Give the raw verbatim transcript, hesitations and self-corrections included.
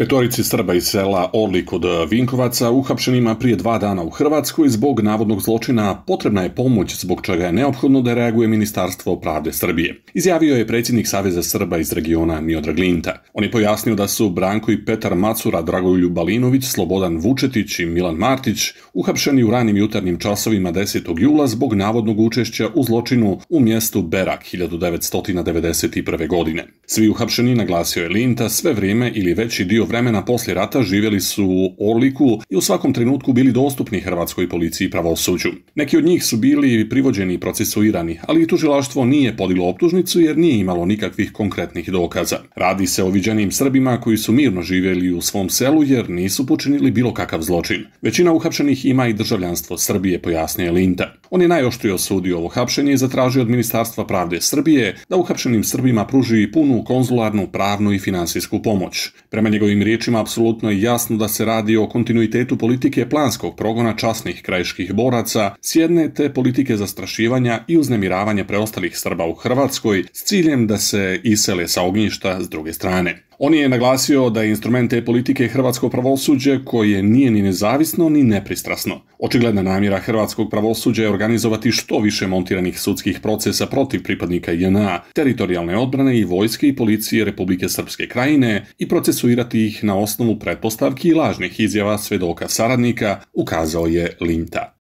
Petorici Srba iz sela Orlik kod Vinkovaca, uhapšenima prije dva dana u Hrvatskoj zbog navodnog zločina, potrebna je pomoć zbog čega je neophodno da reaguje Ministarstvo pravde Srbije. Izjavio je predsjednik Saveza Srba iz regiona Miodrag Linta. On je pojasnio da su Branko i Petar Macura, Dragoljub Balinović, Slobodan Vučetić i Milan Martić uhapšeni u ranim jutarnjim časovima desetog jula zbog navodnog učešća u zločinu u mjestu Berak hiljadu devetsto devedeset prve. godine. Svi uhapšeni, naglasio je Linta, sve vrijeme ili veći dio vremena poslije rata živjeli su u Orliku i u svakom trenutku bili dostupni hrvatskoj policiji i pravosuđu. Neki od njih su bili privođeni i procesuirani, ali i tužilaštvo nije podiglo optužnicu jer nije imalo nikakvih konkretnih dokaza. Radi se o viđenim Srbima koji su mirno živjeli u svom selu jer nisu počinili bilo kakav zločin. Većina uhapšenih ima i državljanstvo Srbije, pojasnio je Linta. On je najoštrije osudio ovo hapšenje i zatražio od Ministarstva pravde Srbije da uhapšenim Srbima pruži punu konzularnu, pravnu i finansijsku pomoć. Prema njegovim riječima, apsolutno je jasno da se radi o kontinuitetu politike planskog progona časnih krajiških boraca s jedne te politike zastrašivanja i uznemiravanja preostalih Srba u Hrvatskoj s ciljem da se isele sa ognjišta s druge strane. On je naglasio da je instrument te politike hrvatsko pravosuđe koje nije ni nezavisno ni nepristrasno. Očigledna namjera hrvatskog pravosuđa je organizovati što više montiranih sudskih procesa protiv pripadnika J N A, teritorijalne odbrane i vojske i policije Republike Srpske Krajine i procesuirati ih na osnovu pretpostavki i lažnih izjava svedoka saradnika, ukazao je Linta.